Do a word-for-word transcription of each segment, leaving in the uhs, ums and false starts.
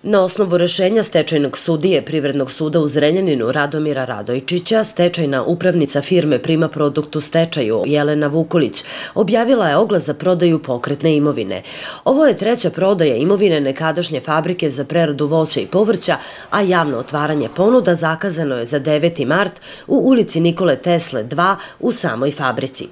Na osnovu rešenja stečajnog sudije Privrednog suda u Zrenjaninu Radomira Radojčića, stečajna upravnica firme Prima Produkt u stečaju Jelena Vukolić objavila je oglas za prodaju pokretne imovine. Ovo je treća prodaja imovine nekadašnje fabrike za preradu voća i povrća, a javno otvaranje ponuda zakazano je za deveti mart u ulici Nikole Tesle dva u samoj fabrici.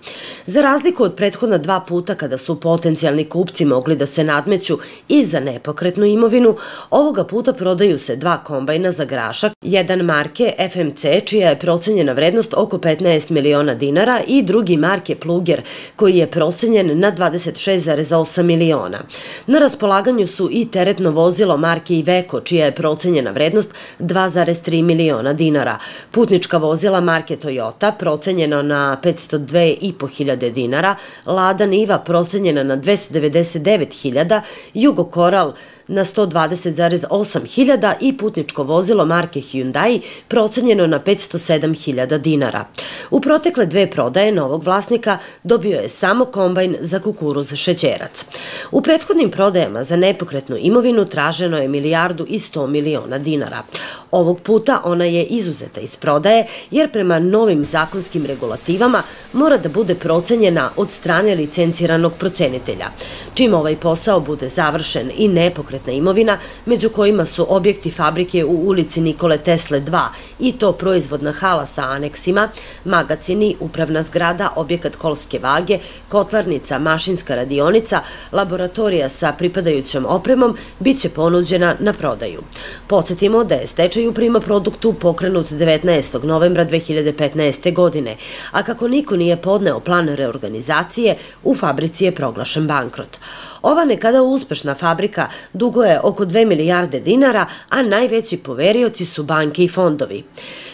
Za razliku od prethodna dva puta kada su potencijalni kupci mogli da se nadmeću i za nepokretnu imovinu, ovoga puta prodaju se dva kombajna za grašak, jedan marke F M C čija je procenjena vrednost oko petnaest miliona dinara i drugi marke Pluger koji je procenjen na dvadeset šest zarez osam miliona. Na raspolaganju su i teretno vozilo marke Iveco čija je procenjena vrednost dva zarez tri miliona dinara, putnička vozila marke Toyota procenjena na petsto dve i po hiljade dinara, Lada Niva procenjena na dvesta devedeset devet hiljada, Jugo Koral na sto dvadeset zarez osam hiljada i putničko vozilo marke Hyundai procenjeno na petsto sedam hiljada dinara. U protekle dve prodaje novog vlasnika dobio je samo kombajn za kukuruz šećerac. U prethodnim prodajama za nepokretnu imovinu traženo je milijardu i sto miliona dinara. Ovog puta ona je izuzeta iz prodaje jer prema novim zakonskim regulativama mora da bude procenjena od strane licenciranog procenitelja. Čim ovaj posao bude završen i nepokretna imovina, među kojima su objekti fabrike u ulici Nikole Tesle dva i to proizvodna hala sa aneksima, magacini, upravna zgrada, objekat kolske vage, kotlarnica, mašinska radionica, laboratorija sa pripadajućom opremom, bit će ponuđena na prodaju. Podsjetimo da je stečaj u Prima Produktu pokrenut devetnaestog novembra dve hiljade petnaeste. godine, a kako niko nije podneo plan reorganizacije, u fabrici je proglašen bankrot. Ova nekada uspešna fabrika dugo je oko dve milijarde dinara, a najveći poverioci su banke i fondovi.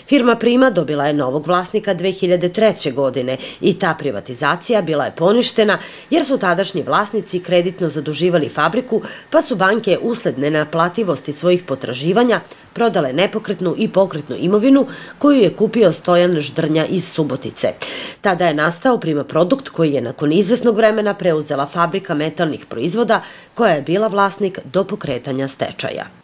Firma Prima dobila je novog vlasnika dve hiljade treće. godine i ta privatizacija bila je poništena jer su tadašnji vlasnici kreditno zaduživali fabriku, pa su banke usled nenaplativosti svojih potraživanja prodale nepokretnu i pokretnu imovinu koju je kupio Stojan Ždrnja iz Subotice. Tada je nastao Prima Produkt koji je nakon izvesnog vremena preuzela fabrika metalnih proizvoda koja je bila vlasnik do pokretanja stečaja.